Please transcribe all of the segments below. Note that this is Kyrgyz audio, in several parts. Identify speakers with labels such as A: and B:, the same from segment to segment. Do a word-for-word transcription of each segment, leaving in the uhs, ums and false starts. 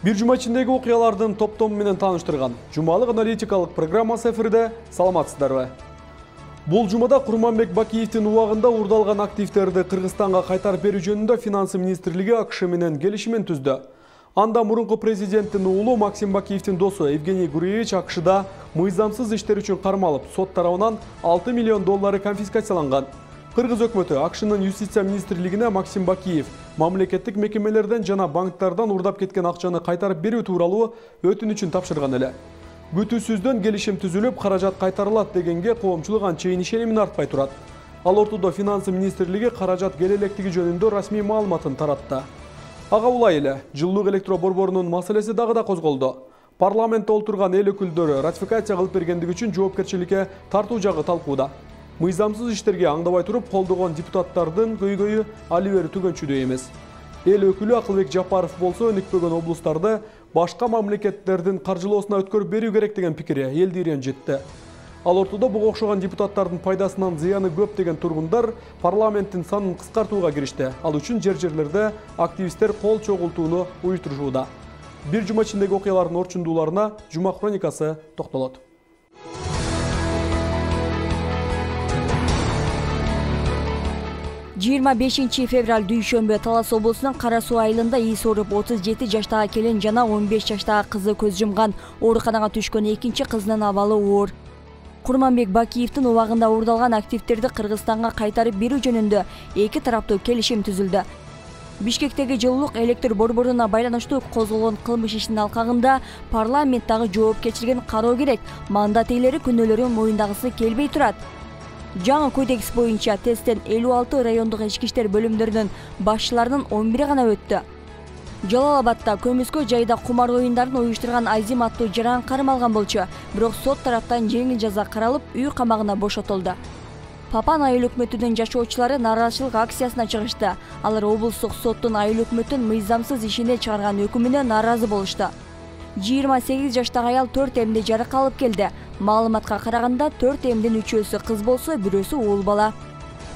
A: Бир жума ичиндеги окуялардын топтому менен тааныштырган жумалык аналитикалык программасы эфирде. Саламатсыздарбы? Бул жумада Курманбек Бакиевдин убагында уурдалган активдерди Кыргызстанга кайтарып берүү жөнүндө Финанс министрлиги АКШ менен келишимин түздү. Анда мурунку президенттин уулу Максим Бакиевдин досу Евгений Гуриевич АКШда мыйзамсыз иштер үчүн кармалып, сот тарабынан алты миллион доллары конфискацияланган. Кыргыз өкмөтү АКШнын юстиция министрлигине Максим Бакиев мамлекеттик мекемелерден жана банктардан уурдап кеткен акчаны кайтарып берүү тууралуу өтүнүчүн тапшырган эле. Күтүүсүздөн келишим түзүлүп, каражат кайтарылат дегенге коомчулук анчейин ишенимин артпай турат. Ал ортодо Финанс министрлиги каражат келе электиги жөнүндө расмий маалыматын таратты. Ага улай эле, жылуулук электро борборунун маселеси дагы да козголду. Парламентте олтурган эл өкүлдөрү ратификация кылып бергендиги үчүн жоопкерчиликке тартуу жагы талкууда. Мыйзамсыз иштерге аңдабай туруп колдогон депутаттардын көйгөйү али бери түгөнчүдөй эмес. Эл өкүлү Акылбек Жапаров болсо өнүкпөгөн облустарды башка мамлекеттердин каржылоосуна өткөрүп берүү керек деген пикири элди ренжитти. Ал ортодо буга окшогон депутаттардын пайдасынан зыяны көп деген тургундар парламенттин санын кыскартууга киришти. Ал үчүн жер-жерлерде активисттер кол чогултууну уюштурушууда. Бир жума ичиндеги окуялардын орчундууларына Жума хроникасы токтолот.
B: жыйырма бешинчи февраль дүйшөмбү Талас облусунун Кара Суу айылында ийиси ооруп отуз жети жаштагы келин жана он беш жаштагы кызы көз жумган. Ооруканага түшкөн экинчи кызынын абалы оор. Курманбек Бакиевдин убагында уурдалган активдерди Кыргызстанга кайтарып берүү жөнүндө эки тараптуу келишим түзүлдү. Бишкектеги жылуулук электр борборуна байланыштуу козголгон кылмыш ишинин алкагында парламенттагы жоопкерчилигин кароо керек. Мандат ээлери күнөөлөрүн моюндагысы келбей турат. Жаңы кодекс боюнча тесттен элүү алты райондук ички иштер бөлүмдөрүнүн башчыларынын он бири гана өттү. Жалал-Абадта көмүскө жайда кумар оюндарын уюштурган Азим аттуу жаран кармалган болчу, бирок сот тараптан жеңил жаза каралып, үй камагына бошотулду. Папан айыл өкмөтүнүн жашоочулары нааразычылык акциясына чыгышты. Алар облустук соттун айыл өкмөтүн мыйзамсыз ишине чыгарган өкүмүнө нааразы болушту. жыйырма сегиз жаштагы аял төрт эмди жарак алып келди. Маалыматка караганда төрт эмдин үчөөсү кыз болсо, бирөөсү уул бала.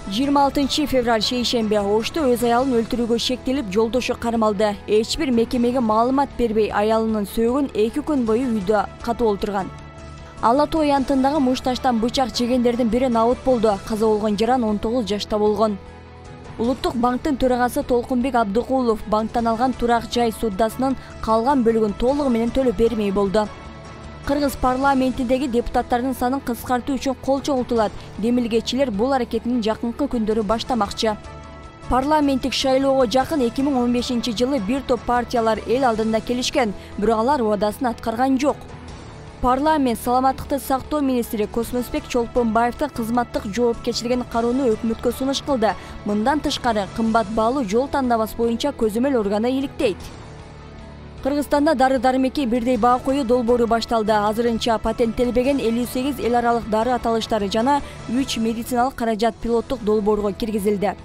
B: жыйырма алтынчы февраль шейшембе Ошто өз аялын өлтүрүүгө шектелип, жолдошу кармалды. Эч бир мекемеге маалымат бербей, аялынын сөөгүн эки күн бою үйдө катып олтурган. Ала Тоо аянтындагы муш таштан бычак жегендердин бири набыт болду. Каза болгон жаран он тогуз жашта болгон. Улуттук банктын төрагасы Толкунбек Абдыкулов банктан алган турак жай суддасынын калган бөлүгүн толугу менен төлөп бермей болду. Кыргыз парламентиндеги депутаттардын санын кыскартуу үчүн кол чогултулат. Демилгечилер бул аракетин жакынкы күндөрү баштамакчы. Парламенттик шайлоого жакын эки миң он бешинчи жылы бир топ партиялар эл алдында келишкен, бирок алар убадасын аткарган жок. Парламент саламаттыкты сактоо министри Космосбек Чолпонбаевдин кызматтык жоопкерчилигин кароону өкмөткө сунуш кылды. Мындан тышкары кымбат баалуу жол тандабас боюнча көзөмөл органы иликтейт. Кыргызстанда дары-дармекке бирдей баа коюу долбоору башталды. Азырынча патенттелбеген элүү сегиз эл аралык дары аталыштары жана үч медициналык каражат пилоттук долбоорго киргизилди.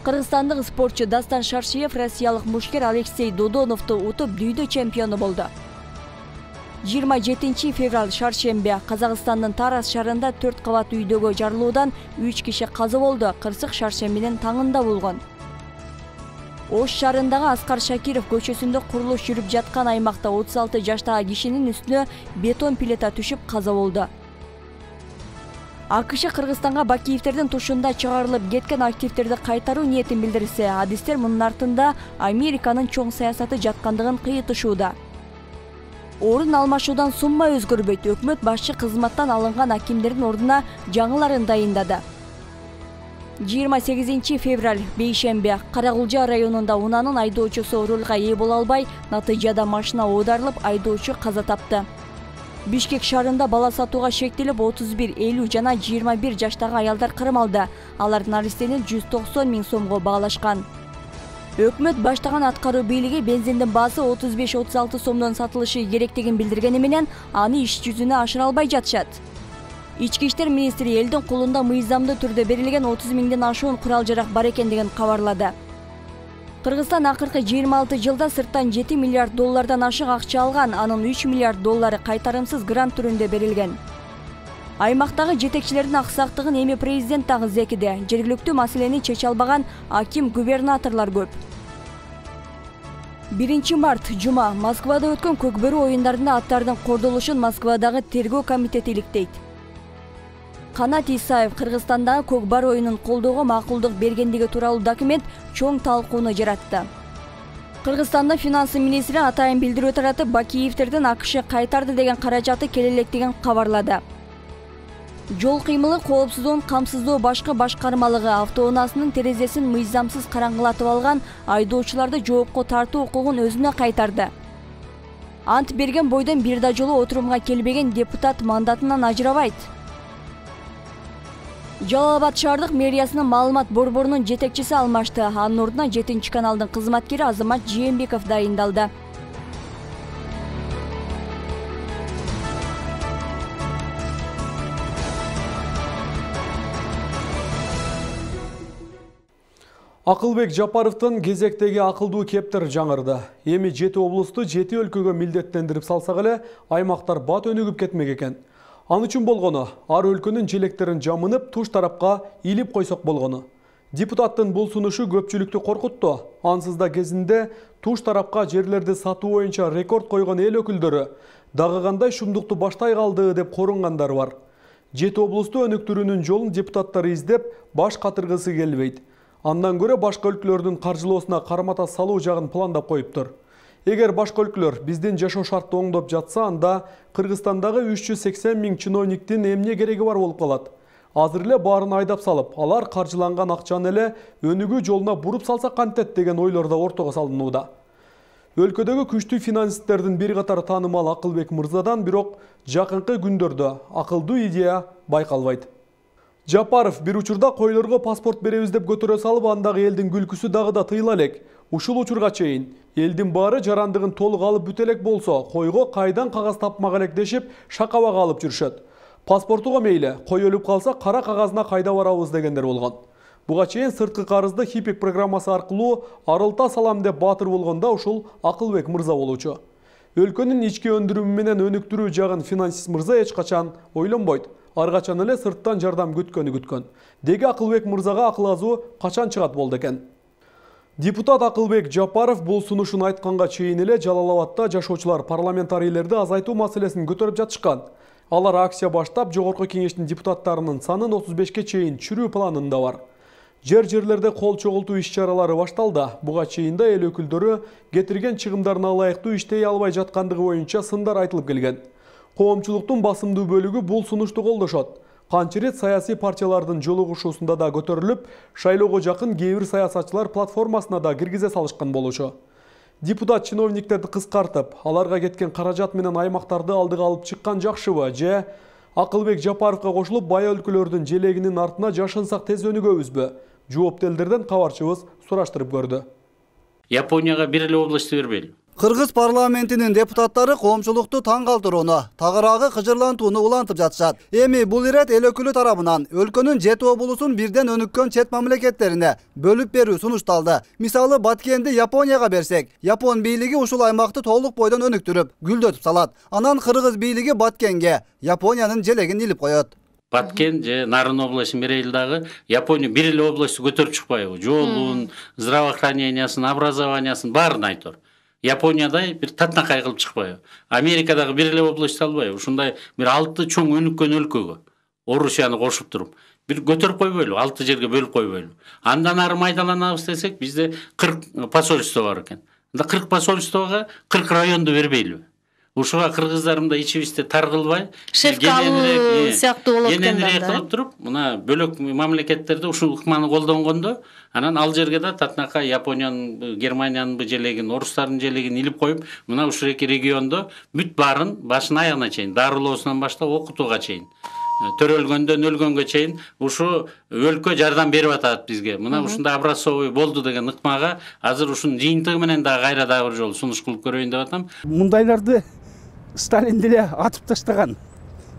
B: Кыргызстандык спортчу Дастан Шаршиев россиялык мушкер Алексей Додоновду утуп дүйдө чемпиону болду. жыйырма жетинчи февраль шаршембе Казакстандын Тараз шаарында төрт кабат үйдөгө жарылуудан үч киши каза болду. Кырсык шаршембинин таңында болгон. Ош шаарындагы Аскар Шакиров көчөсүндө курулуш жүрүп жаткан аймакта отуз алты жаштагы кишинин үстүнө бетон плита түшүп каза болду. АКШ Кыргызстанга Бакиевдердин тушунда чыгарылып кеткен активдерди кайтаруу ниетин билдирсе, адистер мунун артында Американын чоң саясаты жаткандыгын кыйытышууда. Орун алмашуудан сумма өзгөрбөйт. Өкмөт башчы кызматтан алынган акимдердин ордуна жаңыларын дайындады. жыйырма сегизинчи февраль бейшембе Карагулжа районунда унаанын айдоочусу рулга ээ боло албай, натыйжада машина оодарылып, айдоочу каза тапты. Бишкек шаарында бала сатууга шектелип, отуз бир, элүү жана жыйырма бир жаштагы аялдар кармалды. Алардын арестени жүз токсон миң сомго баалашкан. Өкмөт баштаган аткаруу бийлиги бензиндин баасы отуз беш отуз алты сомдон сатылышы керектигин билдиргени менен аны иш жүзүнө ашыра албай жатышат. Ички иштер министри элдин колунда мыйзамдуу түрдө берилген отуз миңден ашуун курал-жарак бар экендигин кабарлады. Кыргызстан акыркы жыйырма алты жылда сырттан жети миллиард доллардан ашык акча алган, анын үч миллиард доллары кайтарымсыз грант түрүндө берилген. Аймактагы жетекчилердин аксактыгын эми президент дагы зекиде. Жергиликтүү маселени чече албаган аким, губернаторлор көп. биринчи март жума Москвада өткөн Көкбөрү оюндарында аттардын кордолушун Москвадагы тергөө комитети иликтейт. Канат Исаев Кыргызстандагы Көкбар оюнун колдоого макулдук бергендиги тууралуу документ чоң талкууну жаратты. Кыргызстандын финансы министри атайын билдирүү таратып, Бакиевтердин АКШ кайтарды деген каражаты келелектигин кабарлады. Жол кыймылы коопсуздугун камсыздоо башкы башкармалыгы автоунаасынын терезесин мыйзамсыз караңгылатып алган айдоочуларды жоопко тартуу укугун өзүнө кайтарды. Ант берген бойдон бир да жолу отурумга келбеген депутат мандатынан ажырабайт. Жалал Абад шаардык мэриясынын маалымат борборунун жетекчиси алмашты. Анын ордуна жетинчи каналдын кызматкери Азамат Жээнбеков дайындалды.
A: Акылбек Жапаровдун кезектеги акылдуу кептер жаңырды. Эми жети облусту жети өлкөгө милдеттендирип салсак эле, аймактар бат өнүгүп кетмек экен. Ал үчүн болгону, ар өлкөнүн желектерин жамынып, туш тарапка илип койсок болгону. Депутаттын бул сунушу көпчүлүктү коркутту. Ансыз да кезинде туш тарапка жерлерди сатуу боюнча рекорд койгон эл өкүлдөрү дагы кандай шумдукту баштай калды деп корунгандар бар. Жети облусту өнүктүрүүнүн жолун депутаттар издеп, баш катыргысы келбейт. Андан көрө башка өлкөлөрдүн каржылоосуна кармата салуу жагын пландап коюптур. Эгер башка өлкөлөр биздин жашоо шартты оңдоп жатса, анда Кыргызстандагы үч жүз сексен миң чиновниктин эмне кереги бар болуп калат. Азыр эле баарын айдап салып, алар каржыланган акчаны эле өнүгүү жолуна буруп салса кантет деген ойлор да ортого салынууда. Өлкөдөгү күчтүү финансисттердин бир катар таанымал Акылбек мырзадан бирок жакынкы күндөрдө акылдуу идея байкалбайт. Жапаров бир учурда койлорго паспорт беребиз деп көтөрө салып, андагы элдин күлкүсү дагы да тыйыла элек. Ушул учурга чейин элдин баары жарандыгын толук алып бүтө элек болсо, койго кайдан кагаз тапмак элек дешип шакабага алып жүрүшөт. Паспортуга мейли, кой өлүп калса кара кагазына кайда барабыз дегендер болгон. Буга чейин сырткы карызды Хипик программасы аркылуу арылта салам деп баатыр болгондо ушул Акылбек мырза болчу. Өлкөнүн ички өндүрүмү менен өнүктүрүү жагын финансист мырза эч качан ойлонбойт. Ар качан эле сырттан жардам күткөнү күткөн. Деги Акылбек мырзага акыл азуу качан чыгат болду экен. Депутат Акылбек Жапаров бул сунушун айтканга чейин эле Жалал Абадда жашоочулар парламентарийлерди азайтуу маселесин көтөрүп жатышкан. Алар акция баштап, жогорку кеңештин депутаттарынын санын отуз бешке чейин чүрүү планында бар. Жер-жерлерде кол чогултуу иш-чаралары башталды. Буга чейин да эл өкүлдөрү кетирген чыгымдарына ылайыктуу иштей албай жаткандыгы боюнча сындар айтылып келген. Коомчулуктун басымдуу бөлүгү бул сунушту колдошот. Канча рет саясий партиялардын жолугушуусунда да көтөрүлүп, шайлоого жакын кээ бир саясатчылар платформасына да киргизе салышкан болчу. Депутат чиновниктерди кыскартып, аларга кеткен каражат менен аймактарды алдыга алып чыккан жакшыбы, же Акылбек Жапаровго кошулуп бая өлкөлөрдүн желегинин артына жашынсак тез өнүгөбүзбү? Жоопту элдерден кабарчыбыз сураштырып көрдү.
C: Японияга бир эле область бербейли.
D: Кыргыз парламентинин депутаттары коомчулукту таң калтырууну, тагыраагы кыжырлантууну улантып жатышат. Эми бул ирет эл өкүлү тарабынан өлкөнүн жети облусун бирден өнүккөн чет мамлекеттерине бөлүп берүү сунушталды. Мисалы Баткенди Японияга берсек, Япон бийлиги ушул аймакты толук бойдон өнүктүрүп, гүлдөтүп салат. Анан Кыргыз бийлиги Баткенге Япониянын желегин илип коет.
C: Баткен же Нарын областын берейли дагы Япония бир эле областты көтөрүп чыкпайбы? Жолун, здравоохранениясын, образованиясын баарын айтор. Япониядай бир татнакай кылып чыкпайбы? Америкадагы бир эле область албайбы? Ушундай бир алты чоң өнүккөн өлкөгө Орусияны кошуп туруп бир көтөрүп койбойлу, алты жерге бөлүп койбойлу. Андан ары майдаланабыз десек, бизде кырк посольство бар экен. Анда кырк посольствого кырк районду бербейли. Ушуга кыргыздарымда ичибизде тар кылбай,
E: шефкалы сыяктуу болот экен да.
C: Кылып туруп, мына бөлөк мамлекеттерде ушул ыкманы колдонгондо, анан ал жерге да татнакай Япониянын, Германиянын желегин, орустардын желегин илип коюп, мына ушул эки региондо бүт баарын башына аягына чейин, дарылоосунан баштап окутууга чейин, төрөлгөндөн өлгөнгө чейин ушу өлкө жардам берип атат бизге. Мына ушундай образцовый болду деген ыкмага азыр ушунун жыйынтыгы менен да кайра дагы бир жолу сунуш кылып көрөйүн деп атам.
F: Мундайларды Сталин деле атып таштаган.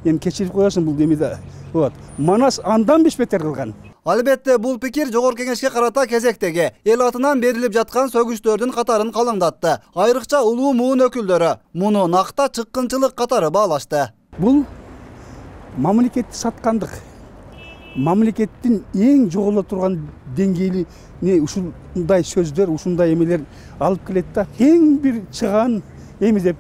F: Эми кечирип коесуң бул демеде. Вот. Манас андан беш бетер кылган.
D: Албетте бул пикир жогорку кеңешке карата кезектеги эл атынан берилип жаткан сөгүштөрдүн катарын калыңдатты. Айрыкча улуу муун өкүлдөрү муну накта чыккынчылык катары баалашты.
F: Бул мамлекетти саткандык. мамлекеттин эң жоголо турган деңгейине ушундай сөздөр, ушундай эмелер алып келет да, эң бир чыгаан эми деп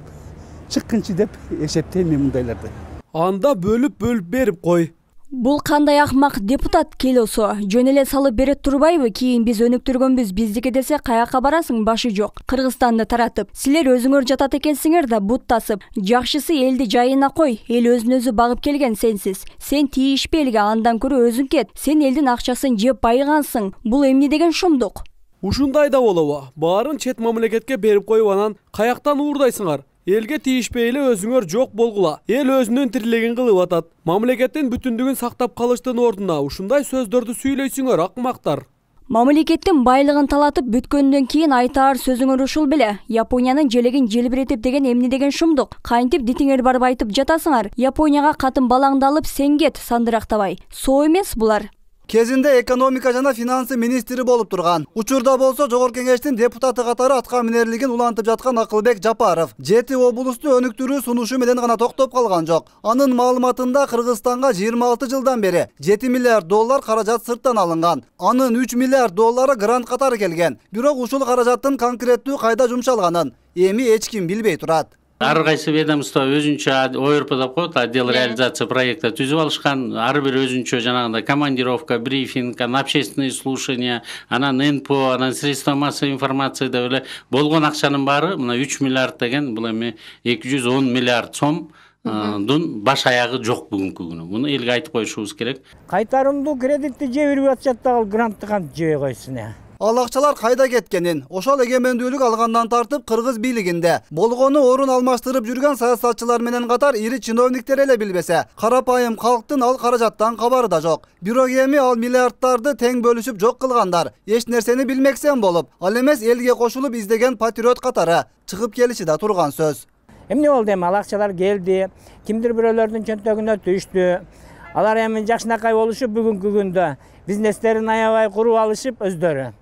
F: чыккынчы деп эсептейм мен мындайларды.
A: Анда бөлүп-бөлүп берип кой.
B: Бул кандай акмак депутат келосо, жөн эле салып берет турбайбы? Кийин биз өнүктүргөнбүз, биздики десе каяка барасың, башы жок. Кыргызстанды таратып, силер өзүңөр жатат экенсиңер да буттасып. Жакшысы элди жайына кой. Эл өзүн өзү багып келген сенсиз. Сен тийишпе элге, андан көрө өзүң кет. Сен элдин акчасын жеп байыгансың. Бул эмне деген шумдук?
A: Ушундай да болобу? Баарын чет мамлекетке берип коюп анан каяктан уурдайсыңар? Элге тийишпей эле өзүңөр жок болгула. Эл өзүнүн тирилегин кылып атат. Мамлекеттин бүтүндүгүн сактап калыштын ордуна ушундай сөздөрдү сүйлөйсүңөр, акмактар.
B: Мамлекеттин байлыгын талатып бүткөндөн кийин айтаар сөзүңөр ушул беле. Япониянын желегин желбиретип деген эмне деген шумдук? Кантип дитиңер барып айтып жатасыңар? Японияга катын балаңды алып сен кет, сандырактабай. Соо эмес булар.
D: Кезинде экономика жана финансы министри болуп турган. Учурда болсо Жогорку Кеңештин депутаты катары атка минерлигин улантып жаткан Акылбек Жапаров жети облусту өнүктүрүү сунушу менен гана токтоп калган жок. Анын маалыматында Кыргызстанга жыйырма алты жылдан бери жети миллиард доллар каражат сырттан алынган. Анын үч миллиард доллары грант катары келген. Бирок ушул каражаттын конкреттүү кайда жумшалганын эми эч ким билбей турат.
C: Ар кайсы ведомство өзүнчө О Р П деп коет, отдел реализация проекта түзүп алышкан. Ар бир өзүнчө жанагындай командировка, брифинг, общественные слушания, анан Н П О, анан средства массовой информации деп эле болгон акчанын баары мына үч миллиард деген, бул эми эки жүз он миллиард сом дун баш аягы жок бүгүнкү күнү. Муну элге айтып коюшубуз керек.
G: Кайтарымдуу кредитти жебирип атышат дагы, грантты кантип жебей койсун э.
D: Ал акчалар кайда кеткенин ошол эгемендүүлүк алгандан тартып кыргыз бийлигинде болгону орун алмаштырып жүргөн саясатчылар менен катар ири чиновниктер эле билбесе, карапайым калктын ал каражаттан кабары да жок. Бирок эми ал миллиардтарды тең бөлүшүп жок кылгандар эч нерсени билмексен болуп, ал эмес элге кошулуп издеген патриот катары чыгып келиши да турган сөз.
G: Эмне болду эми? Ал акчалар келди, кимдир бирөөлөрдүн чөнтөгүнө түштү. Алар эми жакшынакай болушуп бүгүнкү күндө бизнестерин аябай куруп алышып өздөрү.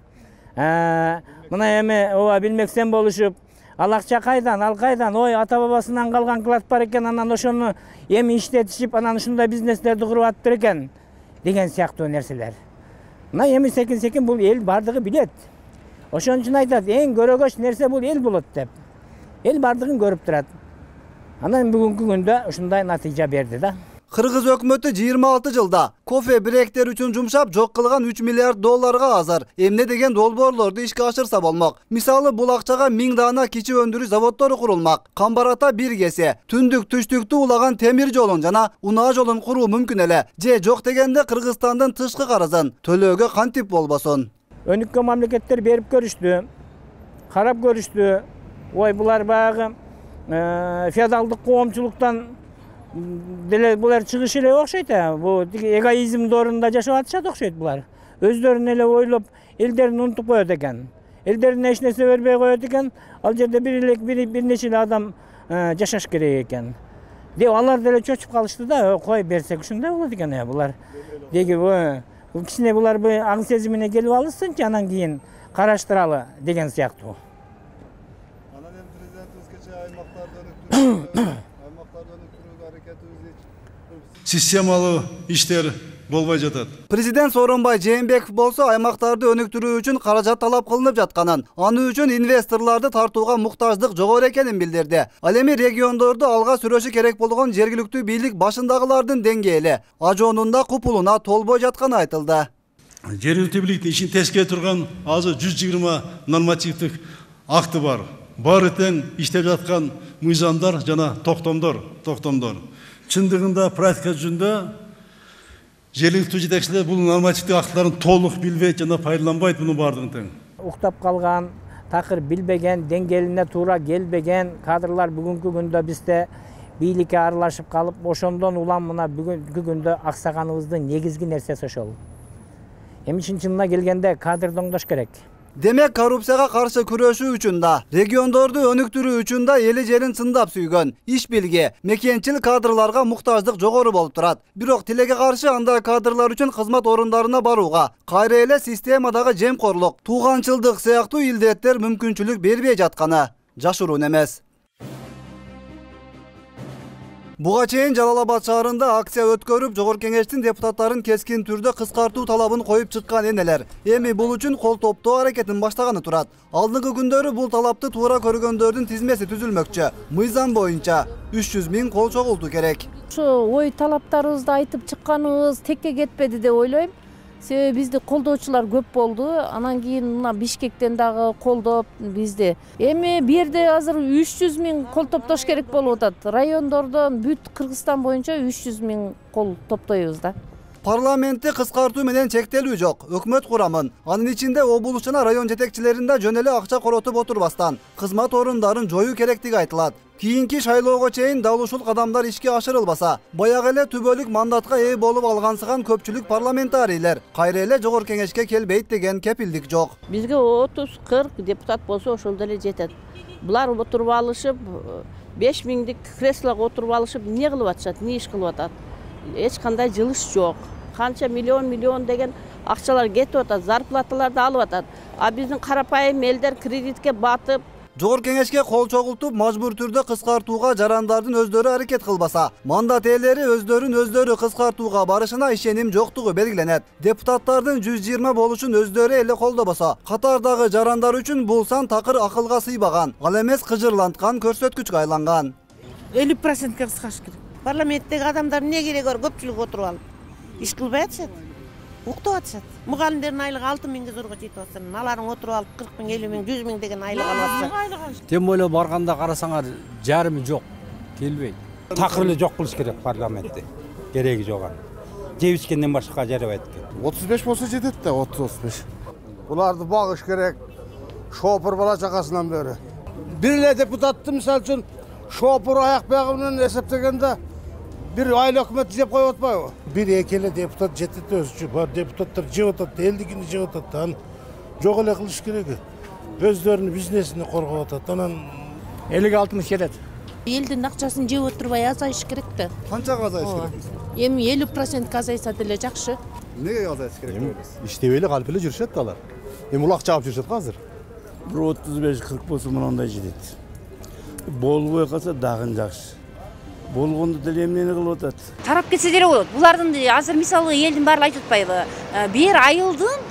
G: Мына эми ооба билмексен болушуп, ал акча кайдан, ал кайдан, ой ата бабасынан калган клад бар экен, анан ошону эми иштетишип, анан ушундай бизнестерди куруп атыптыр экен деген сыяктуу нерселер. Мына эми секин-секин бул эл бардыгы билет. Ошон үчүн айтат, эң көрөгөч нерсе бул эл болот деп. Эл бардыгын көрүп турат. Анан бүгүнкү күндө ушундай натыйжа берди да.
D: Кыргыз өкмөтү жыйырма алты жылда кофе бректер үчүн жумшап жок кылган үч миллиард долларга азыр эмне деген долбоорлорду ишке ашырса болмок. Мисалы бул акчага миң даана кичи өндүрүш заводдору курулмак. Камбарата бир кесе, түндүк түштүктү улаган темир жолун жана унаа жолун куруу мүмкүн эле. Же жок дегенде Кыргызстандын тышкы карызын төлөөгө кантип болбосун.
G: Өнүккөн мамлекеттер берип көрүштү, карап көрүштү. Ой булар баягы феодалдык коомчулуктан деле булар чыгыш эле окшойт а. Бул эгоизм доорунда жашап атышат окшойт булар. Өздөрүн эле ойлоп, элдерин унутуп коет экен. Элдерине эч нерсе бербей коет экен. Ал жерде бир эле бир нече эле адам жашаш керек экен. Деп алар деле чочуп калышты да, кой берсек ушундай болот экен э булар. Деги бул кичине булар аң сезимине келип алышсынчы, анан кийин караштыралы деген сыяктуу.
D: Анан эми президентибиз кечээ аймактарды өнүктүрүү
H: системалуу иштер болбой жатат.
D: Президент Сооронбай Жээнбеков болсо аймактарды өнүктүрүү үчүн каражат талап кылынып жатканын, аны үчүн инвесторлорду тартууга муктаждык жогору экенин билдирди. Ал эми региондорду алга сүрөшү керек болгон жергиликтүү бийлик башындагылардын деңгээли ажоонунда купулуна толбой жатканы айтылды.
H: Жергиликтүү бийликтин ишин тескере турган азыр жүз жыйырма нормативдик акты бар. Баары тең иштеп жаткан мыйзамдар жана токтомдор, токтомдор. Чындыгында практика жүзүндө жергиликтүү жетекчилер бул нормативдик актыларын толук билбейт жана пайдаланбайт мунун баардыгын тең.
G: Уктап калган, такыр билбеген, деңгээлине туура келбеген кадрлар бүгүнкү күндө бизде бийликке аралашып калып, ошондон улам мына бүгүнкү күндө аксаганыбыздын негизги нерсеси ошол. Эми чын-чынына келгенде кадрды оңдош керек.
D: Демек, коррупцияга каршы күрөшүү үчүн да, региондорду өнүктүрүү үчүн да эли жерин чындап сүйгөн, иш билги, мекенчил кадрларга муктаждык жогору болуп турат. Бирок тилекке каршы андай кадрлар үчүн кызмат орундарына барууга кайра эле системадагы жемкорлук, тууганчылдык сыяктуу илдеттер мүмкүнчүлүк бербей жатканы жашыруун эмес. Буга чейин Жалал Абад шаарында акция өткөрүп, Жогорку Кеңештин депутаттарын кескин түрдө кыскартуу талабын коюп чыккан энелер эми бул үчүн кол топтоо аракетин баштаганы турат. Алдыңкы күндөрү бул талапты туура көргөндөрдүн тизмеси түзүлмөкчү. Мыйзам боюнча үч жүз миң кол чогултуу керек.
E: Ошо ой талаптарыбызды айтып чыкканыбыз текке кетпеди деп ойлойм. Себеби бизди колдоочулар көп болду. Анан кийин мына Бишкектен дагы колдоп бизди. Эми бу жерде азыр үч жүз миң кол топтош керек болуп атат. Райондордон бүт Кыргызстан боюнча үч жүз миң кол топтойбуз да.
D: Парламентти кыскартуу менен чектелүү жок. Өкмөт курамын, анын ичинде облус жана район жетекчилеринде жөн эле акча коротуп отурбастан кызмат орундарын жоюу керектиги айтылат. Кийинки шайлоого чейин дал ушул кадамдар ишке ашырылбаса, баягы эле түбөлүк мандатка ээ болуп алгансыган көпчүлүк парламентарийлер кайра эле Жогорку Кеңешке келбейт деген кепилдик жок.
I: Бизге отуз кырк депутат болсо ошол деле жетет. Булар отуруп алышып, беш миңдик креслого отуруп алышып, эмне кылып атышат, эмне иш кылып атат? Эч кандай жылыш жок. Канча миллион миллион деген акчалар кетип атат, зарплаталарды алып атат. А биздин карапайым элдер кредитке батып,
D: Жогорку Кеңешке кол чогултуп, мажбур түрдө кыскартууга жарандардын өздөрү аракет кылбаса, мандат ээлери өздөрүн өздөрү кыскартууга барышына ишеним жоктугу белгиленет. Депутаттардын жүз жыйырма болушун өздөрү эле колдобосо, катардагы жарандар үчүн бул сан такыр акылга сыйбаган, ал эмес кыжырланткан көрсөткүчкө айланган.
J: элүү процентке кыскартыш керек. Парламенттеги адамдар эмне кереги бар, көпчүлүк отуруп алып, иш кылбай атышат. Уктап атышат. Мугалимдердин айлыгы алты миңге зорго жетип атса, аларың отуруп алып кырк миң, элүү миң, жүз миң деген айлык алып атса.
K: Тем более барганда карасаңар жарымы жок, келбейт. Такыр эле жок кылыш керек парламентти. Кереги жок. Жеп ичкенден башка жарабайт экен.
L: отуз беш болсо жетет да, отуз отуз беш. Буларды багыш керек. Шопур бала чакасынан бери. Бир эле депутатты мисалы үчүн шопур аяк байгы менен эсептегенде бир айыл өкмөт жеп коюп атпайбы? Бир эки эле депутат жетет өзүчө. Бар депутаттар жеп атат, элдикини жеп атат. Аны жок эле кылыш керек. Өздөрүнүн бизнесин коргоп атат. Анан
G: элүү алтымыш жетет.
J: Элдин акчасын жеп отурбай азайыш керек да.
L: Канчага азайыш керек?
J: Эми элүү процентке азайса деле жакшы.
L: Эмнеге азайыш керек дейбиз? Иштебей эле калып эле жүрүшөт да алар. Эми улак чаап жүрүшөт го азыр.
F: Бир отуз беш кырк болсо мындай жетет. Болбой калса дагы жакшы. Болгондо деле эмнени кылып атат?
M: Тарап кетсе деле болот. Булардын азыр мисалы элдин баары айтып атпайбы? Бир айылдын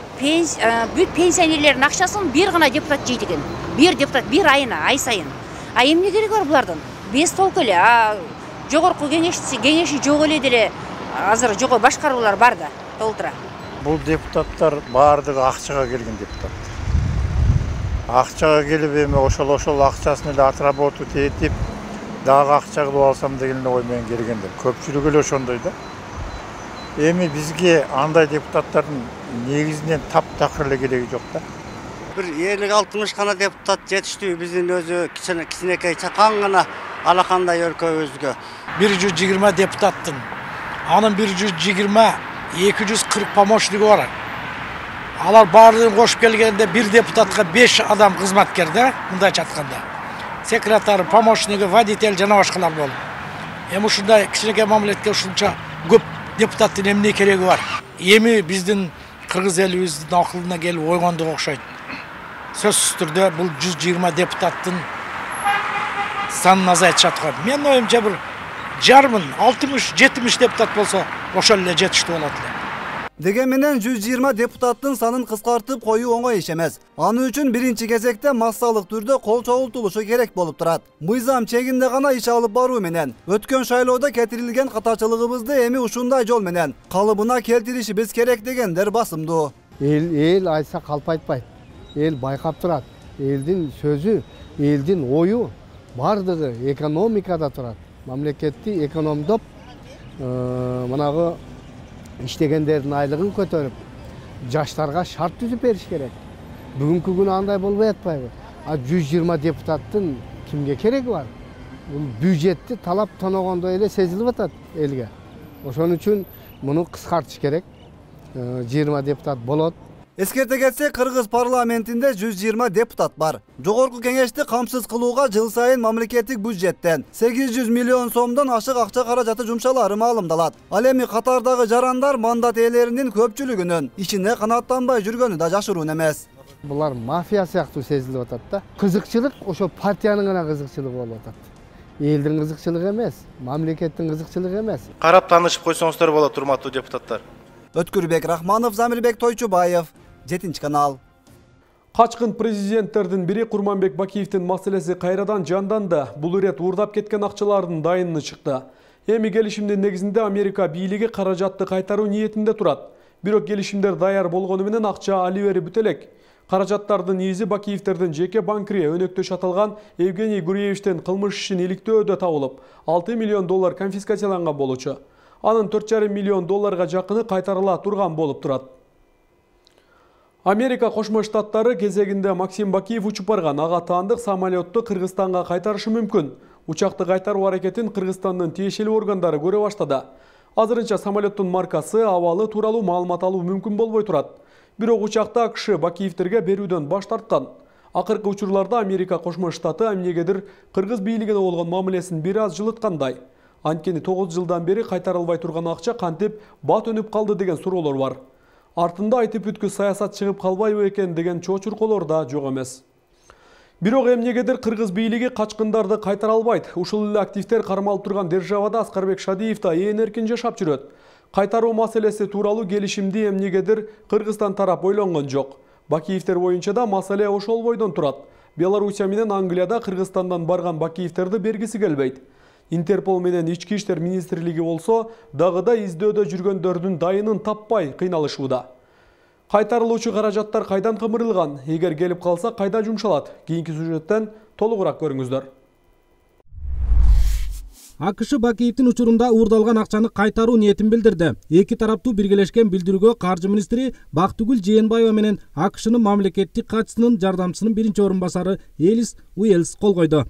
M: бүт пенсионерлердин акчасын бир гана депутат жейт экен. Бир депутат бир айына, ай сайын. А эмне кереги бар булардын? Бес толку эле. А Жогорку Кеңешти, Кеңеши жок эле деле азыр жогору башкаруулар бар да, толтура.
N: Бул депутаттар баардыгы акчага келген депутат. Акчага келип эми ошол ошол акчасын эле отработу этип дагы акча кылып алсам деген ой менен келгендер. Көпчүлүк эле ошондой да. Эми бизге андай депутаттардын негизинен таптакыр эле кереги жок да.
O: Бир элүү алтымыш гана депутат жетиштүү, биздин өзү кичинекей чакан гана алакандай өлкөбүзгө.
P: бир жүз жыйырма депутаттын, анын бир жүз жыйырма эки жүз кырк помощниги бар. Алар баардыгын кошуп келгенде бир депутатка беш адам кызматкер да, мындайча айтканда. Секретарь, помощниги, водитель жана башкалар болуп. Эми ушундай кичинекей мамлекетке ушунча көп депутаттын эмне кереги бар? Эми биздин кыргыз элибиздин акылына келип ойгондук окшойт. Сөзсүз түрдө бул жүз жыйырма депутаттын санын азайтышат го. Мен оюмча бир жарымын, алтымыш, жетимиш депутат болсо ошол эле жетиштүү болот эле.
D: Деген менен жүз жыйырма депутаттын санын кыскартып коюу оңой иш эмес. Аны үчүн биринчи кезекте массалык түрдө кол чогултулушу керек болуп турат. Мыйзам чегинде гана иш алып баруу менен өткөн шайлоодо кетирилген катачылыгыбызды эми ушундай жол менен калыбына келтиришибиз керек дегендер басымдуу.
Q: Эл эл айтса калп айтпайт. Эл байкап турат. Элдин сөзү, элдин ою бардыгы экономикада турат. Мамлекетти экономдоп, мынагы иштегендердин айлыгын көтөрүп, жаштарга шарт түзүп бериш керек. Бүгүнкү күнү андай болбой атпайбы? А жүз жыйырма депутаттын кимге кереги бар? Бул бюджетти талап тоногондой эле сезилип атат элге. Ошон үчүн муну кыскартыш керек. жыйырма депутат болот.
D: Эскерте кетсек, Кыргыз парламентинде жүз жыйырма депутат бар. Жогорку Кеңешти камсыз кылууга жыл сайын мамлекеттик бюджеттен сегиз жүз миллион сомдон ашык акча каражаты жумшалары маалымдалат. Ал эми катардагы жарандар мандат ээлеринин көпчүлүгүнүн ичине канааттанбай жүргөнү да жашыруун эмес.
Q: Булар мафия сыяктуу сезилип атат да. Кызыкчылык ошо партиянын гана кызыкчылыгы болуп атат. элдин кызыкчылыгы эмес, мамлекеттин кызыкчылыгы эмес.
R: Карап таанышып койсоңуздар болот, урматтуу депутаттар.
D: Өткүрбек Рахманов, Замирбек Тойчубаев, жетинчи канал.
A: Качкын президенттердин бири Курманбек Бакиевдин маселеси кайрадан жанданды. Бул ирет уурдап кеткен акчалардын дайыны чыкты. Эми келишимдин негизинде Америка бийлиги каражатты кайтаруу ниетинде турат. Бирок келишимдер даяр болгону менен акча али бери бүт элек. Каражаттардын изи Бакиевдердин жеке банкири өнөктөш аталган Евгений Гуреевичтен кылмыш ишин иликтөөдө табылып, алты миллион доллар конфискацияланган болчу. Анын төрт жарым миллион долларга жакыны кайтарыла турган болуп турат. Америка Кошмо Штаттары кезегинде Максим Бакиев учуп барган ага таандык самолетту Кыргызстанга кайтарышы мүмкүн. Учакты кайтаруу аракетин Кыргызстандын тиешелүү органдары көрө баштады. Азырынча самолеттун маркасы, абалы тууралуу маалымат алуу мүмкүн болбой турат. Бирок учакты АКШ Бакиевдерге берүүдөн баш тарткан. Акыркы учурларда Америка Кошмо Штаты эмнегедир Кыргыз бийлигине болгон мамилесин бир аз жылыткандай. Анткени тогуз жылдан бери кайтарылбай турган акча кантип бат өнүп калды деген суроолор бар. Артында айтып бүткү саясат чыгып калбайбы экен деген чочурколор да жок эмес. Бирок эмнегедир Кыргыз бийлиги качкындарды кайтара албайт. Ушул эле активдер кармалып турган державада Аскарбек Шадиев да ээн эркин жашап жүрөт. Кайтаруу маселеси тууралуу келишимди эмнегедир Кыргызстан тарап ойлонгон жок. Бакиевдер боюнча да маселе ошол бойдон турат. Белоруссия менен Англияда Кыргызстандан барган Бакиевдерди бергиси келбейт. Интерпол менен Ички иштер министрлиги болсо дагы да издөөдө жүргөндөрдүн дайынын таппай кыйналышууда. Кайтарылуучу каражаттар кайдан кымырылган, эгер келип калса кайда жумшалат? Кийинки сюжеттен толугураак көрүңүздөр.
S: АКШ Бакиевдин учурунда уурдалган акчаны кайтаруу ниетин билдирди. Эки тараптуу биргелешкен билдирүүгө каржы министри Бактыгүл Жээнбаева менен АКШнын мамлекеттик катчысынын жардамчысынын биринчи орун басары Элис Уэльс кол койду.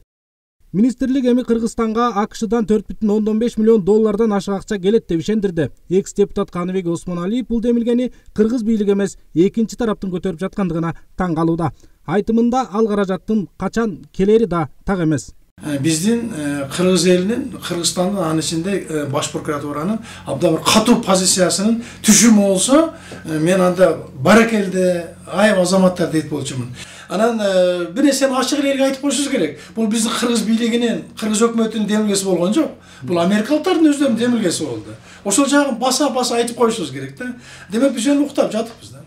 S: Министрлик эми Кыргызстанга АКШдан төрт бүтүн ондон беш миллион доллардан ашык акча келет деп ишендирди. Экс-депутат Каныбек Осмоналиев бул демилгени кыргыз бийлиги эмес, экинчи тараптын көтөрүп жаткандыгына таң калууда. Айтымында ал каражаттын качан келери да так эмес.
P: Биздин кыргыз элинин, Кыргызстандын анын ичинде баш прокуратуранын абдан бир катуу позициясынын түшүмү болсо, мен анда баракелде айып азаматтар дейт болчумун. Анан бир нерсени ачык элге айтып коюшубуз керек. Бул биздин кыргыз бийлигинин, кыргыз өкмөтүнүн демилгеси болгон жок. Бул америкалыктардын өздөрүнүн демилгеси болду. Ошол жагын баса-баса айтып коюшубуз керек да. Демек биз эми уктап жатыкпыз да.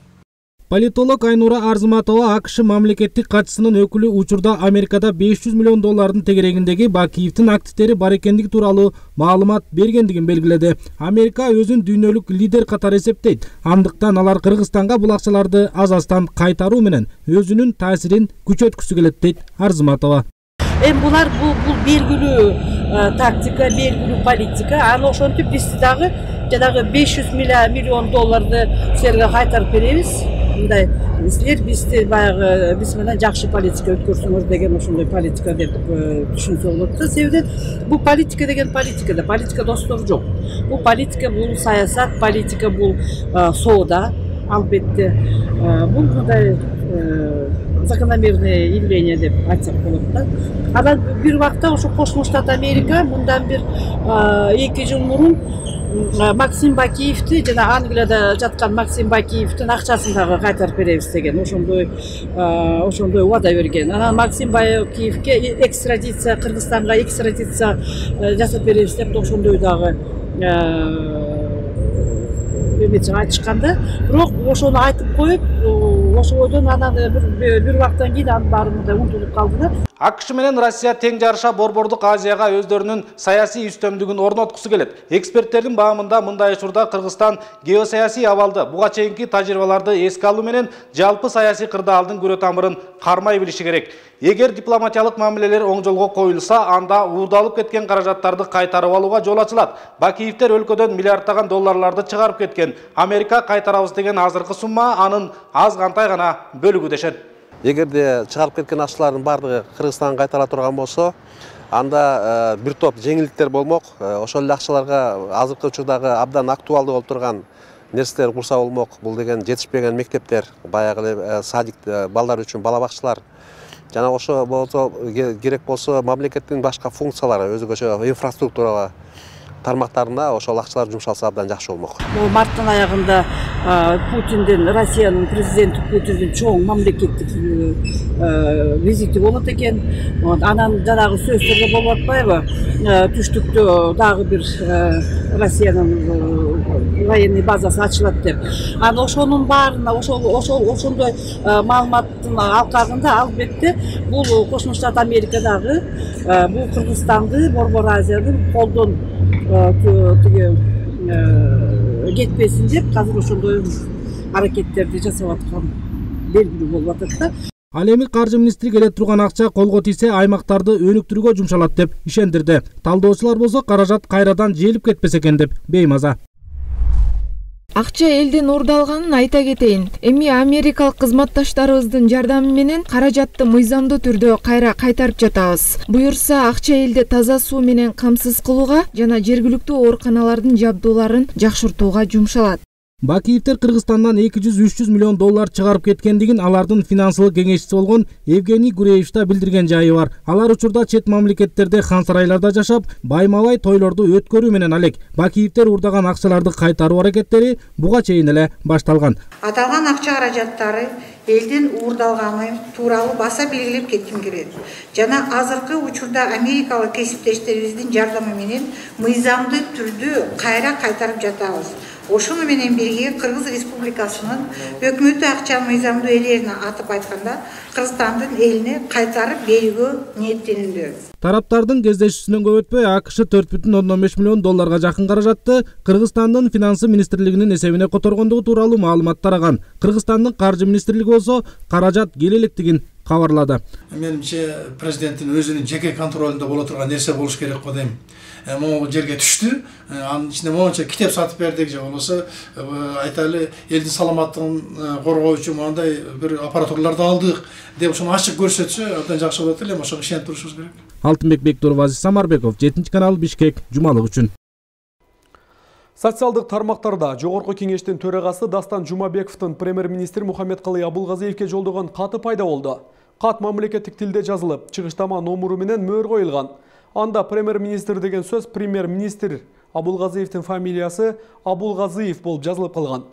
S: Политолог Айнура Арзыматова АКШ мамлекеттик катчысынын өкүлү учурда Америкада беш жүз миллион доллардын тегерегиндеги Бакиевдин активдери бар экендиги тууралуу маалымат бергендигин белгиледи. Америка өзүн дүйнөлүк лидер катары эсептейт. Андыктан алар Кыргызстанга бул акчаларды аз-аздан кайтаруу менен өзүнүн таасирин күчөткүсү келет дейт Арзыматова.
T: Эми булар бул бул белгилүү тактика, белгилүү политика. Аны ошентип биз дагы жанагы беш жүз миллион долларды силерге кайтарып беребиз. Мындай силер бизди баягы биз менен жакшы политика өткөрсөңөр деген ошондой политика деп түшүнсө болот да. Себеби бул политика деген политика да, политика достор жок. Бул политика, бул саясат, политика бул соода, албетте. Бул мындай закономерное явление деп айтсак болот да. Анан бир убакта ошо Кошмо Штат Америка мындан бир эки жыл мурун Максим Бакиевди жана Англияда жаткан Максим Бакиевдин акчасын дагы кайтарып беребиз деген ошондой ошондой убада берген. Анан Максим Бакиевге экстрадиция, Кыргызстанга экстрадиция жасап беребиз деп ошондой дагы эмечи айтышканда, бирок ошону айтып коюп, ошо бойдон анан бир бир убакыттан кийин анын баары мындай унутулуп калды да.
S: АКШ менен Россия тең жарыша Борбордук Азияга өздөрүнүн саясий үстөмдүгүн орноткусу келет. Эксперттердин баамында мындай учурда Кыргызстан геосаясий абалды, буга чейинки тажрыйбаларды эске алуу менен жалпы саясий кырдаалдын күрө тамырын кармай билиши керек. Эгер дипломатиялык мамилелер оң жолго коюлса, анда уурдалып кеткен каражаттарды кайтарып алууга жол ачылат. Бакиевдер өлкөдөн миллиарддаган долларларды чыгарып кеткен. Америка кайтарабыз деген азыркы сумма анын аз кантай гана бөлүгү дешет.
U: Эгерде чыгарып кеткен акчалардын баардыгы Кыргызстанга кайтара турган болсо, анда бир топ жеңилдиктер болмок. Ошол эле акчаларга азыркы учурдагы абдан актуалдуу болуп турган нерселер курса болмок. Бул деген жетишпеген мектептер, баягы эле садик балдар үчүн бала бакчалар. Жана ошо болсо керек болсо мамлекеттин башка функциялары, өзгөчө инфраструктурага тармактарына ошол акчалар жумшалса абдан жакшы болмок.
T: Бул марттын аягында Путиндин, Россиянын президенти Путиндин чоң мамлекеттик визити болот экен. Анан жанагы сөздөргө болуп атпайбы? Түштүктө дагы бир Россиянын военный базасы ачылат деп. Анан ошонун баарына ошол ошол ошондой маалыматтын алкагында албетте бул Кошмо Штат Америкадагы бул Кыргызстанды, Борбор Азиянын колдон тиги кетпесин деп азыр ошондой аракеттерди жасап аткан белгилүү болуп атат да.
S: Ал эми каржы министри келе турган акча колго тийсе аймактарды өнүктүрүүгө жумшалат деп ишендирди. Талдоочулар болсо каражат кайрадан жээлип кетпесе экен деп беймаза.
B: Акча элден уурдалганын айта кетейин. Эми америкалык кызматташтарыбыздын жардамы менен каражатты мыйзамдуу түрдө кайра кайтарып жатабыз. Буюрса акча элди таза суу менен камсыз кылууга жана жергиликтүү ооруканалардын жабдууларын жакшыртууга жумшалат.
S: Бакиевдер Кыргызстандан эки жүз үч жүз миллион доллар чыгарып кеткендигин алардын финансылык кеңешчиси болгон Евгений Гуреевичте билдирген жайы бар. Алар учурда чет мамлекеттерде хан сарайларда жашап, байма-бай тойлорду өткөрүү менен алек Бакиевдер уурдаган акчаларды кайтаруу аракеттери буга чейин эле башталган.
V: Аталган акча каражаттары элден уурдалганы тууралуу баса белгилеп кетким келет. Жана азыркы учурда америкалык кесиптештерибиздин жардамы менен мыйзамдуу түрдө кайра кайтарып жатабыз. Ошону менен бирге Кыргыз Республикасынын өкмөтү акча мыйзамдуу ээлерине атып айтканда Кыргызстандын элине кайтарып берүүгө ниеттенүүдө.
S: Тараптардын кездешүүсүнөн көп өтпөй АКШ төрт бүтүн ондон беш миллион долларга жакын каражатты Кыргызстандын финансы министрлигинин эсебине которгондугу тууралуу маалымат тараган. Кыргызстандын каржы министрлиги болсо каражат келе электигин кабарлады.
P: Менимче президенттин өзүнүн жеке контролунда боло турган нерсе болуш керек го дейм. Могу жерге түштү, анын ичинде могунча китеп сатып бердик же болбосо айталы элдин саламаттыгын коргоочу мындай бир аппаратураларды алдык деп ошону ачык көрсөтсө абдан жакшы болот эле, ошого ишенип турушубуз керек.
S: Алтынбек Бектуров, Азиз Самарбеков, жетинчи канал, Бишкек, жумалык үчүн.
A: Социалдык тармактарда Жогорку кеңештин төрагасы Дастан Жумабековдун премьер-министр Мухаммедкалый Абулгазиевке жолдогон каты пайда болду. Кат мамлекеттик тилде жазылып, чыгыштама номуру менен мөөр коюлган. Анда премьер-министр деген сөз премьер-министр Абулгазиевдин фамилиясы Абулгазиев болуп жазылып калган.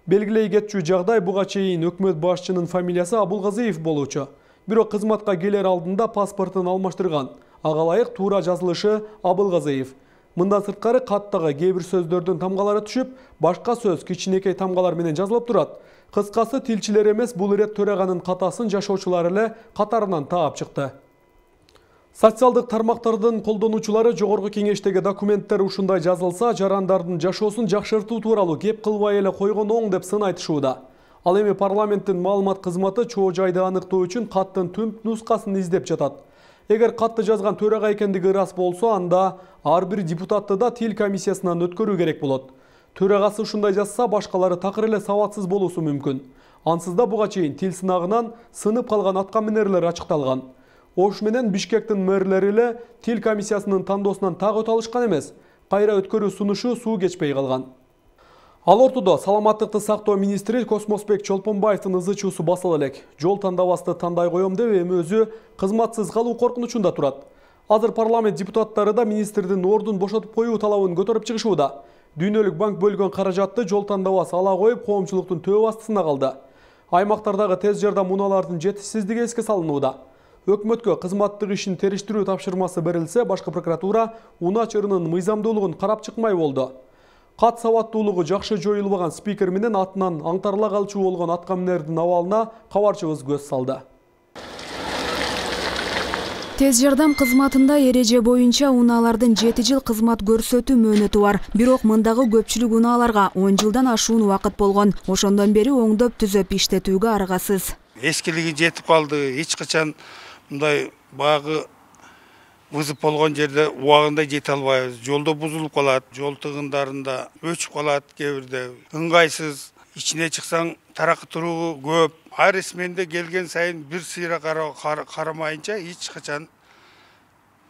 A: Белгилей кетчү жагдай буга чейин өкмөт башчынын фамилиясы Абулгазиев болуучу. Бирок кызматка келер алдында паспортун алмаштырган. Ага ылайык туура жазылышы Абулгазиев. Мындан сырткары каттагы кээ бир сөздөрдүн тамгалары түшүп, башка сөз кичинекей тамгалар менен жазылып турат. Кыскасы тилчилер эмес, бул ирет төраганын катасын жашоочулар эле катарынан таап чыкты. Социалдык тармактардын колдонуучулары Жогорку кеңештеги документтер ушундай жазылса, жарандардын жашоосун жакшыртуу тууралуу кеп кылбай эле койгон оң деп сын айтышууда. Ал эми парламенттин маалымат кызматы чоо жайды аныктоо үчүн каттын түп нускасын издеп жатат. Эгер катты жазган төрага экендиги ырас болсо, анда ар бир депутатты да тил комиссиясынан өткөрүү керек болот. Төрагасы ушундай жазса, башкалары такыр эле сабатсыз болуусу мүмкүн. Ансыз да буга чейин тил сынагынан сынып калган аткаминерлер ачыкталган. Ош менен Бишкектин мэрлери эле тил комиссиясынын тандоосунан так өтө алышкан эмес. Кайра өткөрүү сунушу суу кечпей калган. Ал ортодо саламаттыкты сактоо министри Космосбек Чолпонбаевдин ызы-чуусу басыла элек. Жол тандабасты тандай коем деп эми өзү кызматсыз калуу коркунучунда турат. Азыр парламент депутаттары да министрдин ордун бошотуп коюу талабын көтөрүп чыгышууда. Дүйнөлүк банк бөлгөн каражатты жол тандабасы ала коюп, коомчулуктун төбө астысына калды. Аймактардагы тез жардам унаалардын жетишсиздиги эске салынууда. Өкмөткө кызматтык ишин териштирүү тапшырмасы берилсе, башкы прокуратура унаа чырынын мыйзамдуулугун карап чыкмай болду. Кат сабаттуулугу жакшы жоюлбаган спикер менен атынан аңтарыла калчу болгон аткаминердин абалына кабарчыбыз көз салды.
B: Тез жардам кызматында эреже боюнча унаалардын жети жыл кызмат көрсөтүү мөөнөтү бар. Бирок мындагы көпчүлүк унааларга он жылдан ашуун убакыт болгон. Ошондон бери оңдоп түзөп иштетүүгө аргасыз.
W: Эскилиги жетип калды. Эч качан мындай багы вызып болгон жерде убагында жете албайбыз. Жолдо бузулуп калат, жол тыгындарында өчүп калат, кээ бирде ыңгайсыз. Ичине чыксаң таракы туруу көп. Ар сменде келген сайын бир сыйра карамайынча эч качан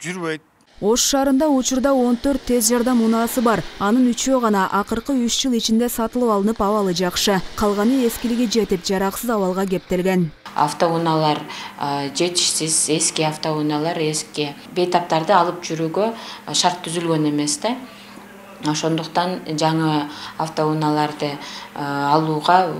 W: жүрбөйт.
B: Ош шаарында учурда он төрт тез жардам унаасы бар. Анын үчөө гана акыркы үч жыл ичинде сатылып алынып, абалы жакшы. Калганы эскилиги жетип, жараксыз абалга кептелген.
X: Автоунаалар жетишсиз, эски автоунаалар, эски бейтаптарды алып жүрүүгө шарт түзүлгөн эмес да. Ошондуктан жаңы автоунааларды алууга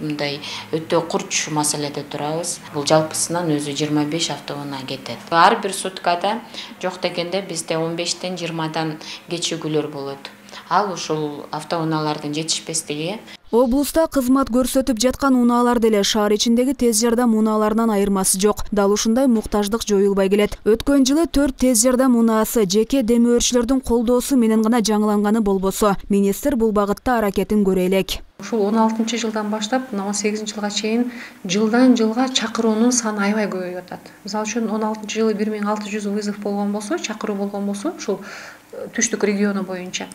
X: мындай өтө курч маселеде турабыз. Бул жалпысынан өзү жыйырма беш автоунаа кетет. Ар бир суткада жок дегенде бизде он бештен жыйырмадан кечигүүлөр болот. Ал ушул автоунаалардын жетишпестиги.
C: Облуста кызмат көрсөтүп жаткан унаалар деле шаар ичиндеги тез жардам унааларынан айырмасы жок. Дал ушундай муктаждык жоюлбай келет. Өткөн жылы төрт тез жардам унаасы жеке демөөрчүлөрдүн колдоосу менен гана жаңыланганы болбосо, министр бул багытта аракетин көрө элек.
E: Ушул он алтынчы жылдан баштап мына он сегизинчи жылга чейин жылдан жылга чакыруунун саны аябай көбөйүп атат. Мисалы үчүн он алтынчы жылы бир миң алты жүз вызов болгон болсо, чакыруу болгон болсо, ушул түштүк региону боюнча.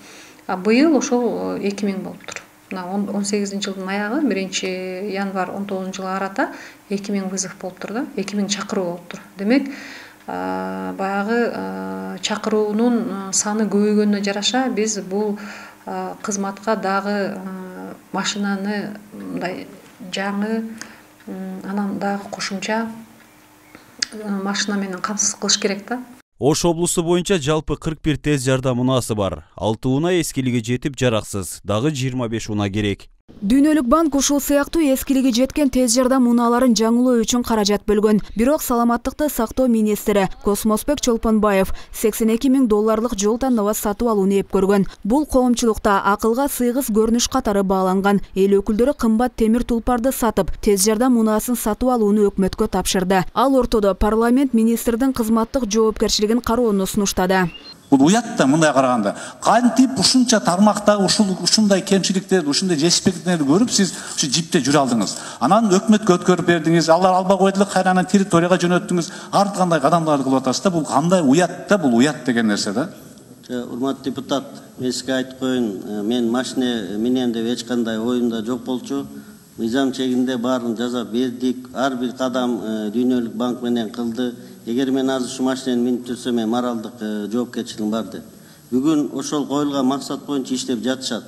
E: А быйыл ошол эки миң болуптур. Мына он сегизинчи жылдын аягы биринчи январь он тогузунчу жылга карата эки миң вызов болуптур да, эки миң чакыруу болуптур. Демек, баягы чакыруунун саны көбөйгөнүнө жараша биз бул кызматка дагы машинаны мындай жаңы, анан дагы кошумча машина менен камсыз кылыш керек да.
H: Ош облусу боюнча жалпы кырк бир тез жардам унаасы бар. алты унаа эскилиги жетип жараксыз, дагы жыйырма беш унаа керек.
C: Дүйнөлүк банк ушул сыяктуу эскилиги жеткен тез жардам унааларын жаңылоо үчүн каражат бөлгөн. Бирок саламаттыкты сактоо министри Космосбек Чолпонбаев сексен эки миң долларлык жол тандабы сатып алууну эп көргөн. Бул коомчулукта акылга сыйгыз көрүнүш катары бааланган. Эл өкүлдөрү кымбат темир тулпарды сатып, тез жардам унаасын сатып алууну өкмөткө тапшырды. Ал ортодо парламент министрдин кызматтык жоопкерчилигин кароону сунуштады.
I: Бул уят да мындай караганда. Кантип ушунча тармактагы ушул ушундай кемчиликтерди, ушундай жетишпестиктерди көрүп сиз ушу жипте жүрө алдыңыз. Анан өкмөткө өткөрүп бердиңиз, алар албай койду, кайрадан территорияга жөнөттүңүз. Ар кандай кадамдарды кылып атасыз да, бул кандай уят да, бул уят деген нерсе да.
Y: Урматтуу депутат, мен сизге айтып коеюн, мен машина менен деп эч кандай оюмда жок болчу. Мыйзам чегинде баарын жазап бердик. Ар бир кадам Дүйнөлүк банк менен кылды. Эгер мен азыр ушу машинени минип жүрсөм, мен моралдык жоопкерчилигим бар деп. Бүгүн ошол коюлган максат боюнча иштеп жатышат.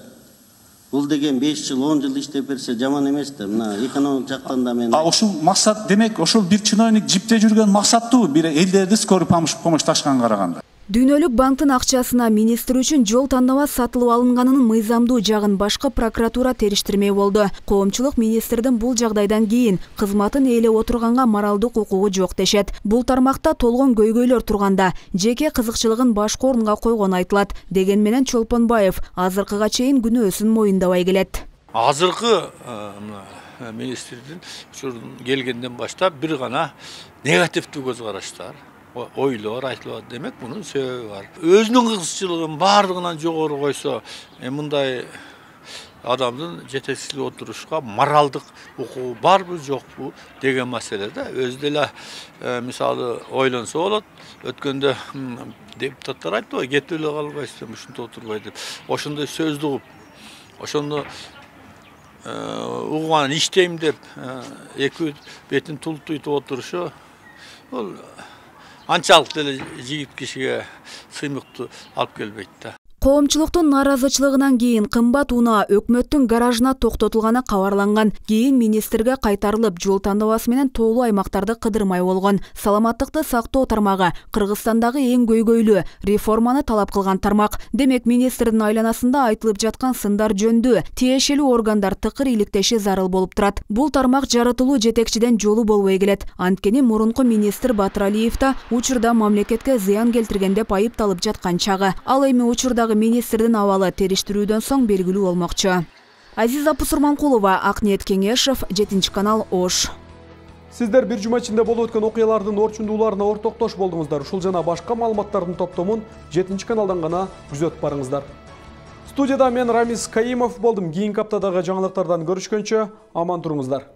Y: Бул деген беш жыл, он жыл иштеп берсе жаман эмес да. Мына экономик жактан да мен.
I: А ушул максат демек ошол бир чиновник жипте жүргөн максаттуу, бир элдерди скорый помощьташканга караганда.
C: Дүйнөлүк банктын акчасына министр үчүн жол тандабы сатылып алынганынын мыйзамдуу жагын башкы прокуратура териштирмей болду. Коомчулук министрдин бул жагдайдан кийин кызматын ээлеп отурганга моралдык укугу жок дешет. Бул тармакта толгон көйгөйлөр турганда жеке кызыкчылыгын башкы орунга койгон айтылат. Деген менен Чолпонбаев азыркыга чейин күнөөсүн моюндабай келет.
Z: Азыркы министрдин учурун келгенден баштап бир гана негативдүү көз караштар, ойлор айтылат. Демек мунун себеби бар. Өзүнүн кызыкчылыгын бардыгынан жогору койсо, мындай адамдын жетекчилип отурушка моралдык укугу барбы жокпу деген маселе да. Өзү деле мисалы ойлонсо болот. Өткөндө депутаттар айтты, кетип эле калбайсыз, ушинте отурбай деп. Ошондой сөздү угуп, ошону угуп анан иштейм деп эки бетин тултуйтуп отурушу, бул анчалык деле жигит кишиге сыймыктуу алып келбейт да.
C: Коомчулуктун наразычылыгынан кийин кымбат унаа өкмөттүн гаражына токтотулганы кабарланган. Кийин министрге кайтарылып, жол тандабасы менен тоолуу аймактарды кыдырмай болгон. Саламаттыкты сактоо тармагы Кыргызстандагы эң көйгөйлүү реформаны талап кылган тармак. Демек министрдин айланасында айтылып жаткан сындар жөндүү тиешелүү органдар тыкыр иликтеши зарыл болуп турат. Бул тармак жарытылуу жетекчиден жолу болбой келет. Анткени мурунку министр Батыралиев да учурда мамлекетке зыян келтирген деп айыпталып жаткан чагы. Ал эми учурда министрдин абалы териштирүүдөн соң белгилүү болмокчу. Азиза Пусурманкулова, Акниет Кеңешев, жетинчи канал, Ош.
A: Сиздер бир жума ичинде болуп өткөн окуялардын орчундууларына ортоктош болдуңуздар. Ушул жана башка маалыматтардын топтомун жетинчи каналдан гана күзөтүп барыңыздар. Студияда мен Рамис Каимов болдум. Кийинки аптадагы жаңылыктардан көрүшкөнчө аман туруңуздар.